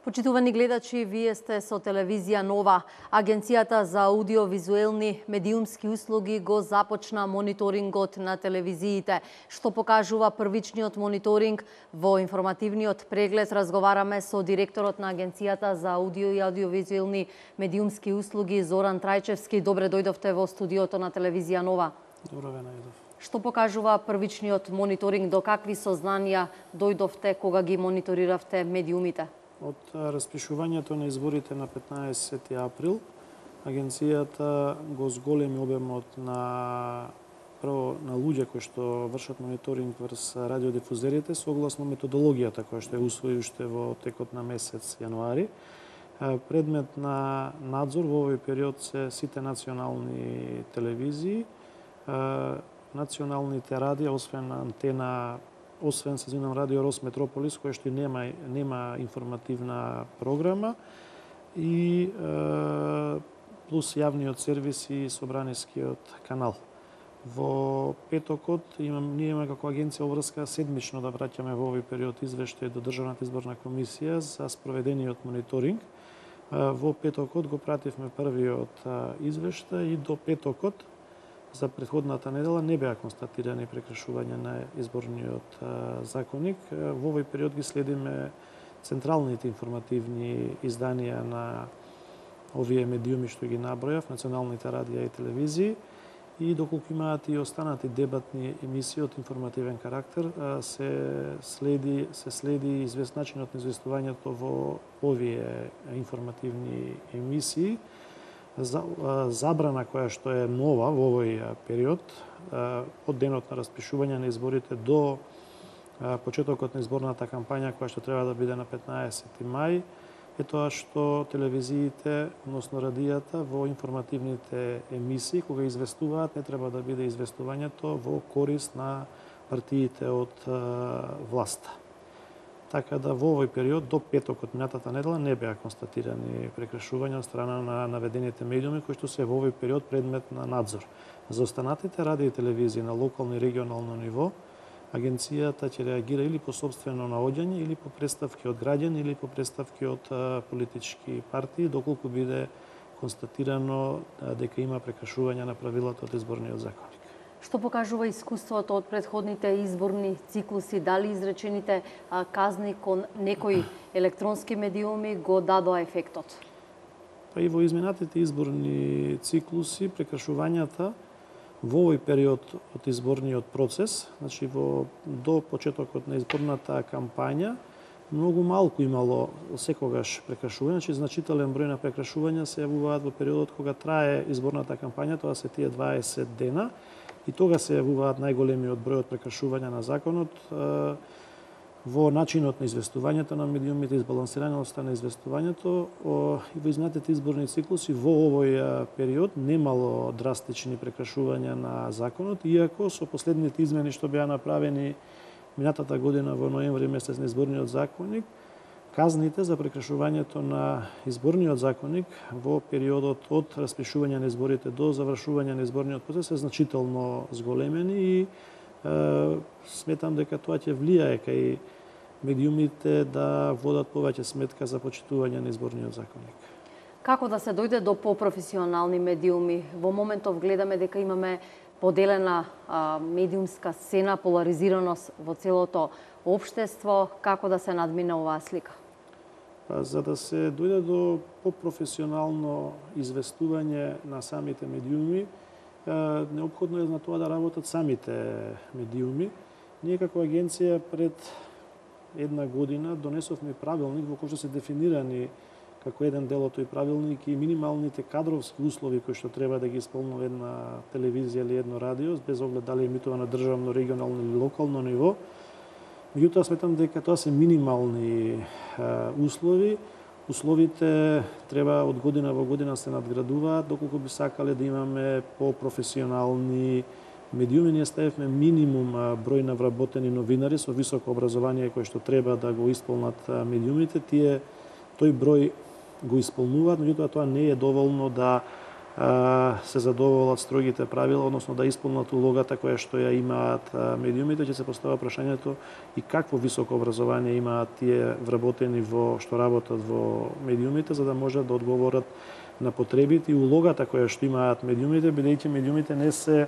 Почитувани гледачи, вие сте со телевизија Нова. Агенцијата за аудиовизуелни медиумски услуги го започна мониторингот на телевизиите. Што покажува првичниот мониторинг? Во информативниот преглед разговараме со директорот на Агенцијата за аудио и аудиовизуелни медиумски услуги Зоран Трајчевски. Добре дојдовте во студиото на телевизија Нова. Добро ве најдов. Што покажува првичниот мониторинг? До какви сознанија дојдовте кога ги мониториравте медиумите? Од распишувањето на изборите на 15 април, агенцијата го зголеми обемот на луѓе кои што вршат мониторинг врз радиодифузерите согласно методологијата која што ја усвои уште во текот на месец јануари. Предмет на надзор во овој период се сите национални телевизии, националните радија, освен Радио Рос Метрополис, кој што нема информативна програма, и плюс јавниот сервис и собранискиот канал. Во петокот ние имаме како агенција обврска седмично да враќаме во овој период извештај до Државната изборна комисија за спроведениот мониторинг. Во петокот го пративме првиот извештај и до петокот за претходната недела не беа констатирани прекршувања на изборниот законник. Во овој период ги следиме централните информативни изданија на овие медиуми што ги набројав, националните радија и телевизии, и доколку имаат и останати дебатни емисии од информативен карактер, се следи начинот на известувањето во овие информативни емисии. Забрана која што е нова во овој период, од денот на распишување на изборите до почетокот на изборната кампања која што треба да биде на 15 мај, е тоа што телевизиите, односно радијата, во информативните емисии, кога известуваат, не треба да биде известувањето во корист на партиите од власта. Така да во овој период до петокот минатата недела не беа констатирани прекршувања од страна на наведените медиуми кои што се во овој период предмет на надзор. За останатите радио и телевизии на локално и регионално ниво, агенцијата ќе реагира или по сопствено наоѓање, или по представки од граѓани, или по представки од политички партии, доколку биде констатирано дека има прекршување на правилата од изборниот законник. Што покажува искуството од претходните изборни циклуси? Дали изречените казни кон некои електронски медиуми го дадоа ефектот? Па и во изминатите изборни циклуси прекршувањата во овој период од изборниот процес, значи до почетокот на изборната кампања, многу малку имало секогаш прекршувања, значи значителен број на прекршувања се јавуваат во периодот кога трае изборната кампања, тоа се тие 20 дена, и тога се јавуваат најголемиот број од прекршувања на законот во начинот на известувањето на медиумите, избалансираноста на известувањето. И во изминатите изборни циклуси во овој период немало драстични прекршувања на законот, иако со последните измени што беа направени минатата година во ноември месец на изборниот законник, казните за прекршувањето на изборниот законник во периодот од распишување на изборите до завршување на изборниот процес е значително зголемени и сметам дека тоа ќе влијае кај медиумите да водат повеќе сметка за почитување на изборниот законник. Како да се дојде до попрофесионални медиуми? Во моментов гледаме дека имаме поделена медиумска сцена, поларизираност во целото општество. Како да се надмине оваа слика? За да се дојде до попрофесионално известување на самите медиуми, неопходно е на тоа да работат самите медиуми. Ние како агенција пред една година донесовме правилник во кој што се дефинирани како еден дел од тој правилник и минималните кадровски услови кои што треба да ги исполнува една телевизија или едно радио, без оглед дали емитува на државно, регионално или локално ниво. Меѓутоа сметам дека тоа се минимални услови. Условите треба од година во година се надградуваат, доколку би сакале да имаме попрофесионални медиуми. Ние ставивме минимум број на вработени новинари со високо образование кои што треба да го исполнат медиумите. Тој број го исполнуваат, меѓутоа тоа не е доволно да се задоволат строгите правила, односно да исполнат улогата која што ја имаат медиумите, ќе се поставува прашањето и какво високо образование имаат тие вработени што работат во медиумите, за да можат да одговорат на потребите и улогата која што имаат медиумите, бидејќи медиумите не се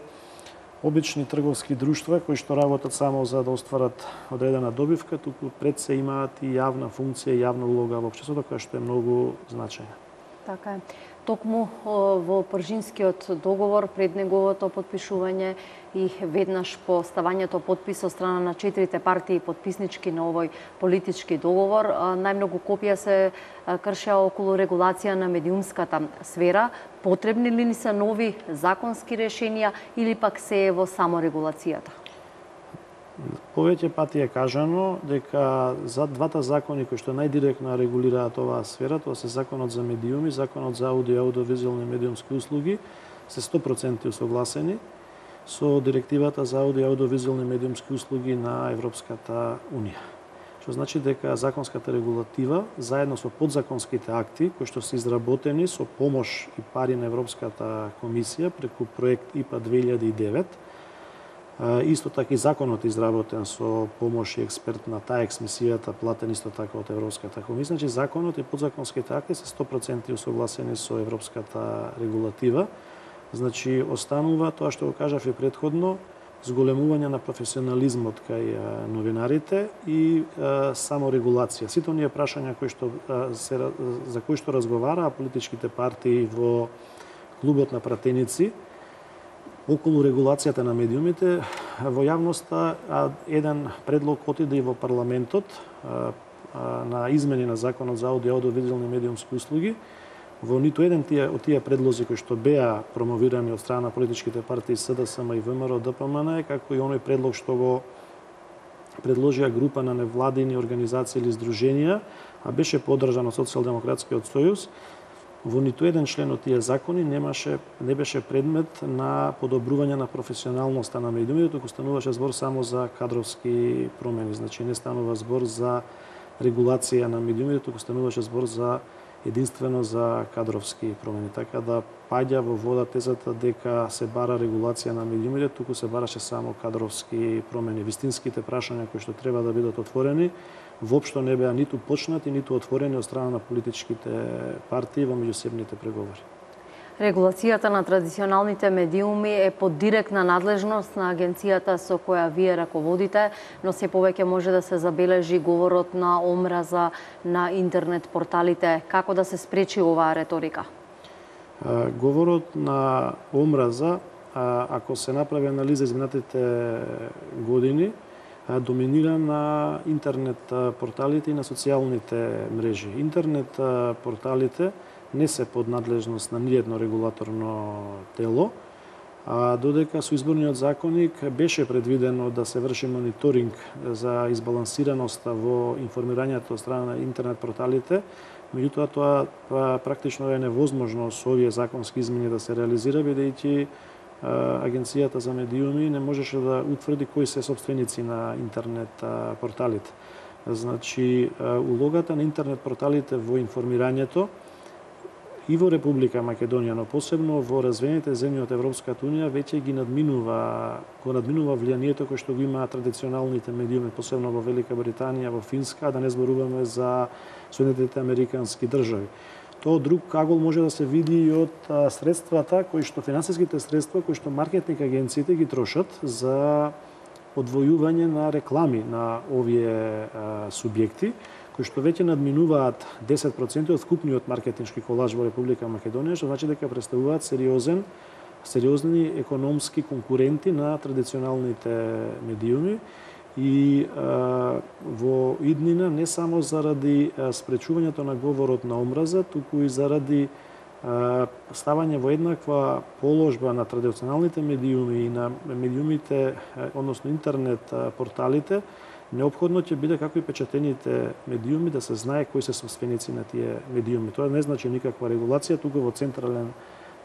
обични трговски друштва кои што работат само за да остварат одредена добивка, туку пред се имаат и јавна функција и јавна улога во општеството која што е многу значајна. Така е. Токму во Пржинскиот договор, пред неговото подпишување и веднаш по ставањето подпис од страна на 4 партии подписнички на овој политички договор, најмногу копија се кршеа околу регулација на медиумската сфера. Потребни ли ни се нови законски решенија или пак се е во саморегулацијата? Повеќе пати е кажано дека за двата закони кои што најдиректно регулираат оваа сфера, тоа се Законот за медиуми, Законот за аудио и аудиовизуелни медиумски услуги, се 100% усогласени со Директивата за аудио и аудиовизуелни медиумски услуги на Европската Унија. Што значи дека законската регулатива, заедно со подзаконските акти, кои што се изработени со помош и пари на Европската комисија преку проект ИПА 2009, исто така и законот изработен со помош и експерт на ТАЕКС мисијата, платен исто така од Европската комисија. Значи законот и подзаконските акти се 100% усогласени со европската регулатива. Значи останува тоа што го кажав и претходно, зголемување на професионализмот кај новинарите и саморегулација. Сите оние прашања за кои што разговараа политичките партии во клубот на пратеници околу регулацијата на медиумите, во јавноста еден предлог отиде и во парламентот на измени на Законот за аудио и аудиовизуелни медиумски услуги. Во ниту еден од тие предлози кои што беа промовирани од страна на политичките партии СДСМ и ВМРО ДПМН, како и оној предлог што го предложија група на невладини организации или здруженија, а беше поддржан од Социјалдемократскиот сојуз, во ниту еден член од тие закони не беше предмет на подобрување на професионалноста на медиумите, туку стануваше збор само за кадровски промени. Значи не станува збор за регулација на медиумите, туку стануваше збор за единствено за кадровски промени. Така да паѓа во вода тезата дека се бара регулација на медиумите, туку се бараше само кадровски промени. Вистинските прашања кои што треба да бидат отворени воопшто не беа ниту почнати, ниту отворени од страна на политичките партии во меѓусебните преговори. Регулацијата на традиционалните медиуми е под директна надлежност на агенцијата со која вие раководите, но се повеќе може да се забележи говорот на омраза на интернет порталите. Како да се спречи оваа реторика? Говорот на омраза, ако се направи анализа изминатите години, доминира на интернет порталите и на социјалните мрежи. Интернет порталите не се под надлежност на ниедно регулаторно тело, додека со изборниот законник беше предвидено да се врши мониторинг за избалансираноста во информирањето од страна на интернет порталите, меѓутоа тоа практично е невозможно со овие законски измени да се реализира, бидејќи Агенцијата за медиуми не можеше да утврди кои се собственици на интернет порталите. Значи, улогата на интернет порталите во информирањето и во Република Македонија, но посебно во развиените земји од Европската Унија, веќе го надминува влијанието кое што го имаат традиционалните медиуми, посебно во Велика Британија, во Финска, да не зборуваме за Соединетите Американски држави. Тоа друг кагол може да се види и од средствата финансиските средства кои што маркетинг агенциите ги трошат за одвојување на реклами на овие субјекти, кои што веќе надминуваат 10% од вкупниот маркетиншки колаж во Република Македонија, што значи дека представуваат сериозни економски конкуренти на традиционалните медиуми и во иднина не само заради спречувањето на говорот на омраза, туку и заради ставање во еднаква положба на традиционалните медиуми и на медиумите, односно интернет порталите, неопходно ќе биде како и печатените медиуми да се знае кои се собственици на тие медиуми. Тоа не значи никаква регулација, туку во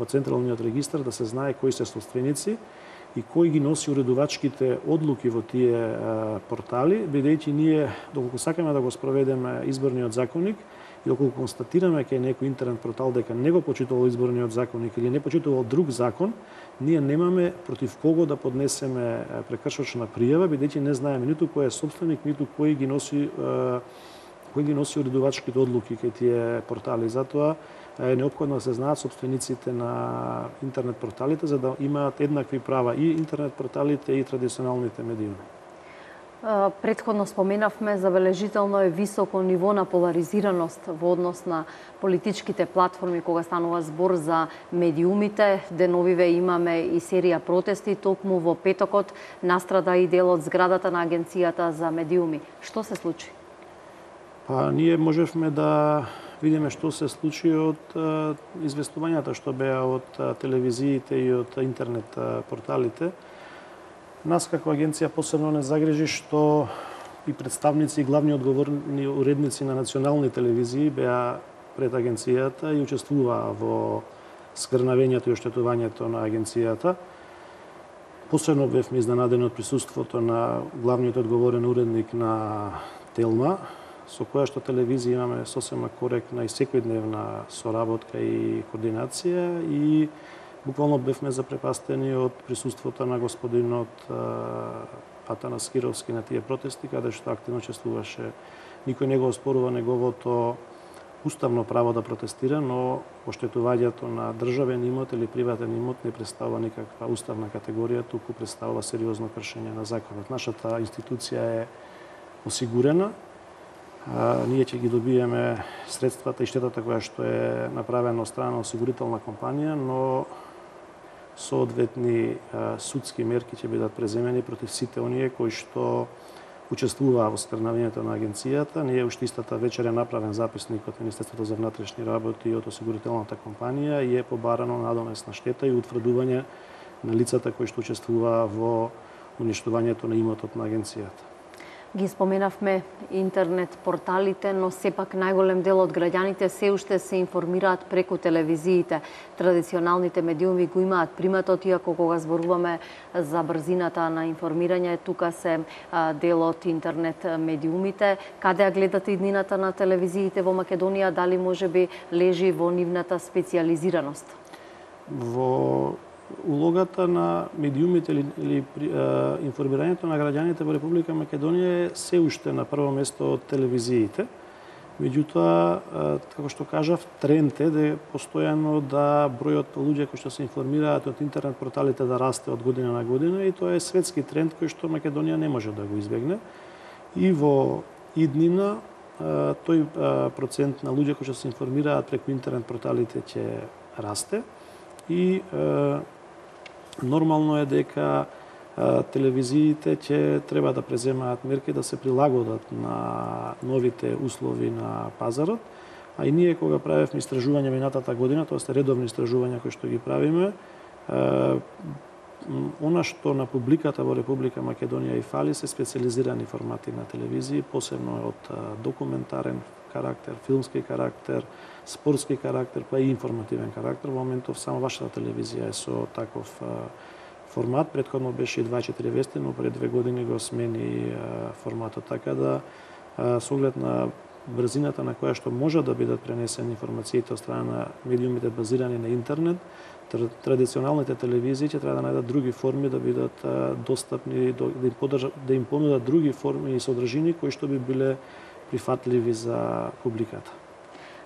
централниот регистар да се знае кои се собственици и кој ги носи уредувачките одлуки во тие портали, бидејќи ние, доколку сакаме да го спроведеме изборниот законник, И околу констатираме кај некој интернет портал дека не го почитувал изборниот законник или не почитувал друг закон, ние немаме против кого да поднесеме прекршочна пријава, бидејќи не знаеме ниту кој е собственик, ниту кој ги носи уредувачките одлуки кај тие портали. Затоа е неопходно да се знаат собствениците на интернет порталите за да имаат еднакви права и интернет порталите и традиционалните медиуми. Претходно споменавме, забележително е високо ниво на поларизираност во однос на политичките платформи кога станува збор за медиумите. Деновиве имаме и серија протести, токму во петокот настрада и дел од зградата на Агенцијата за медиуми. Што се случи? Ние можевме да видиме што се случи од известувањата што беа од телевизиите и од интернет порталите. Нас како агенција посебно не загрижи што и представници и главни одговорни уредници на национални телевизии беа пред агенцијата и учествуваа во скрнавењето и оштетувањето на агенцијата. Посебно бевме изненадени од присуството на главниот одговорен уредник на Телма, со која што телевизија имаме сосема коректна и секојдневна соработка и координација и буквално бевме запрепастени од присуството на господинот Атанас Кировски на тие протести, каде што активно учествуваше. Никој не го оспорува неговото уставно право да протестира, но оштетувањето на државен имот или приватен имот не представува никаква уставна категорија, туку представува сериозно кршење на законот. Нашата институција е осигурена, ние ќе ги добиеме средствата и штетата која што е направена од страна на осигурителна компанија, но соодветни судски мерки ќе бидат преземени против сите оние кои што учествуваа во скрнавењето на агенцијата. Ние уште истата вечер е направен записник од Министерството за внатрешни работи и од осигурителната компанија и е побарано надомесна штета и утврдување на лицата кои што учествуваа во уништувањето на имотот на агенцијата. Ги споменавме интернет порталите, но сепак најголем дел од граѓаните се уште се информираат преку телевизиите. Традиционалните медиуми го имаат приматот, иако кога зборуваме за брзината на информирање, тука се дел од интернет медиумите. Каде ја гледате иднината на телевизиите во Македонија? Дали можеби лежи во нивната специјализираност? Во улогата на медиумите или информирањето на граѓаните во Република Македонија е се уште на прво место од телевизиите. Меѓутоа, како што кажав, тренд е да постојано да бројот луѓе кои што се информираат од интернет порталите да расте од година на година и тоа е светски тренд кој што Македонија не може да го избегне. И во иднина тој процент на луѓе кои што се информираат преку интернет порталите ќе расте и нормално е дека телевизиите ќе треба да преземаат мерки да се прилагодат на новите услови на пазарот, а и ние кога правевме истражување минатата година, тоа се редовни истражувања кои што ги правиме, она што на публиката во Република Македонија и фали се специјализирани формати на телевизии, посебно од документарен карактер, филмски карактер, спортски карактер, па и информативен карактер. Во моментов само вашата телевизија е со таков формат. Претходно беше и 24 вести, но пред 2 години го смени форматот, така да со оглед на брзината на која што може да бидат пренесени информациите од страна на медиумите базирани на интернет, традиционалните телевизии ќе треба да најдат други форми да бидат достапни, да им понудат други форми и содржини кои што би биле прифатливи за публиката.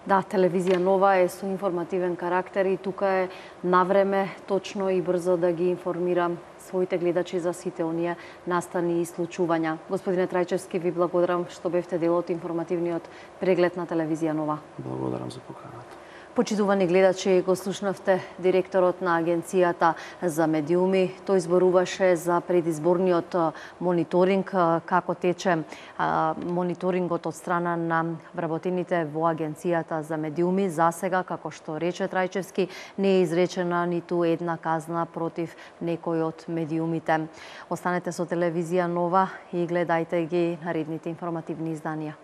Да, телевизија Нова е со информативен карактер и тука е навреме точно и брзо да ги информирам своите гледачи за сите оние настани и случувања. Господине Трајчевски, ви благодарам што бевте дел од информативниот преглед на телевизија Нова. Благодарам за поканата. Почитувани гледачи, го слушнавте директорот на Агенцијата за медиуми. Тој зборуваше за предизборниот мониторинг, како тече мониторингот од страна на вработените во Агенцијата за медиуми. За сега, како што рече Трајчевски, не е изречена ниту една казна против некој од медиумите. Останете со телевизија Нова и гледајте ги наредните информативни изданија.